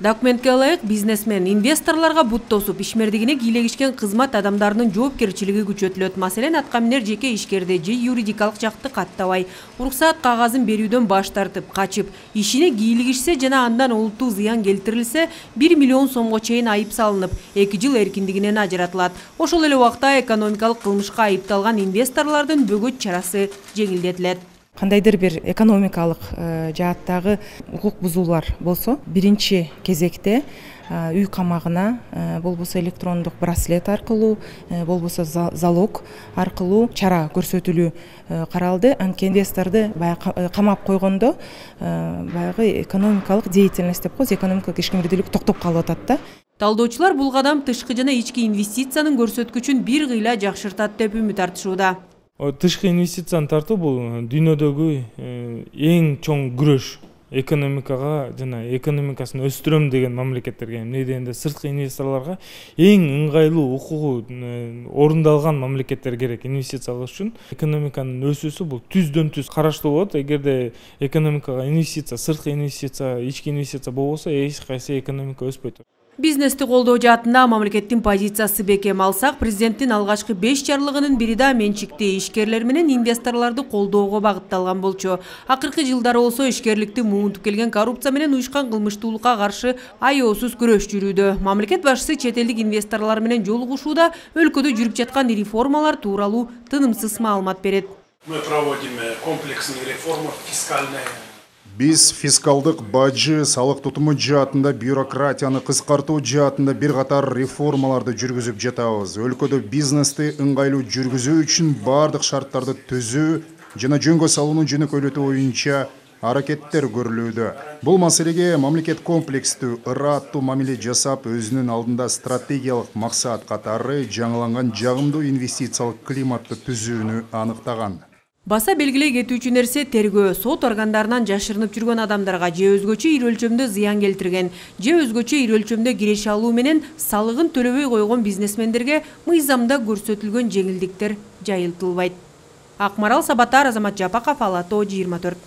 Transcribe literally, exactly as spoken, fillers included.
Документке ылайык бизнесмен инвесторлорго бут тосуп, ишмердигине кийлегишкен кызмат адамдарынын жоопкерчилиги күчөтүлөт. Маселен, аткаминер жеке ишкерди же юридикалык жакты каттабай, уруксаат кагазын берүүдөн баш тартып, качып, ишине кийлигишсе жана андан олуттуу зыян келтирилсе, бир миллион сомго чейин айып салынып, эки жыл эркиндигинен ажыратылат. Ошол эле убакта экономикалык кылмышка айыпталган инвесторлордун бөгөт чарасы жеңилдетилет. Кандайдыр бир экономикалык жааттагы укук бузуулар болсо, биринчи кезекте үй камагына, болбосо электрондук браслет аркылуу, болбосо залог аркылуу чара көрсөтүлүү каралды. Анткени инвесторду баягы камап койгондо баягы экономикалык деятельность деп коебуз, экономикалык ишкердүүлүк токтоп калып атат да. Талдоочулар бул кадам тышкы жана ички инвестициянын көрсөткүчүн бир кыйла жакшыртат деп үмүт артышууда. Тышкы инвестицияны тартуу бул дүйнөдөгү эң чоң күрөш экономикага жана экономикасын өстүрөм деген мамлекеттерге, эмне дегенде сырткы инвесторлорго эң ыңгайлуу укугу орундалган мамлекеттер керек инвестиция кылыш үчүн. Экономиканын өсүүсү бул түздөн түз караштуу болот. Эгерде экономикага инвестиция, сырткы инвестиция, ички инвестиция болбосо, эч кайсы экономика өспөйт. Бизнести колдоо жаатында мамлекеттин позициясы бекем. Алсак, президенттин алгачкы беш жарлыгынын бири да менчикти ишкерлер менен инвесторлорду колдоого багытталган болчу. Акыркы жылдары болсо ишкерликти муунтуп келген коррупция менен уюшкан кылмыштуулукка каршы аеосуз күрөш жүрүүдө. Мамлекет башчысы чет элдик инвесторлор менен жолугушууда өлкөдө жүрүп жаткан реформалар тууралуу тынымсыз маалымат берет. Мы проводим комплексные реформы фискальные. Биз фискалдык бажы, салык тутуму жаатында, бюрократияны кыскартуу жаатында бир катар реформаларды жүргүзүп жатабыз. Өлкөдө бизнести ыңгайлуу жүргүзүү үчүн бардык шарттарды түзүү жана жөнгө салууну жөнөкөйлөтүү боюнча аракеттер көрүлүүдө. Бул маселеге мамлекет комплекстүү, ыраттуу мамиле жасап, өзүнүн алдында стратегиялык максат катары жаңыланган жагымдуу инвестициялык климатты түзүүнү аныктаган. Баса белгилей кетүүчү нерсе тергөө сот органдарынан жашырынып жүргөн адамдарга же өзгөчө ири өлчөмдө зыян келтирген, же өзгөчө ири өлчөмдө киреше алуу менен салыгын төлөбөй койгон бизнесмендерге мыйзамда көрсөтүлгөн жеңилдиктер жайылтылбайт. Акмарал Сабатар, Азамат Жапаков, Ала Тоо жыйырма төрт.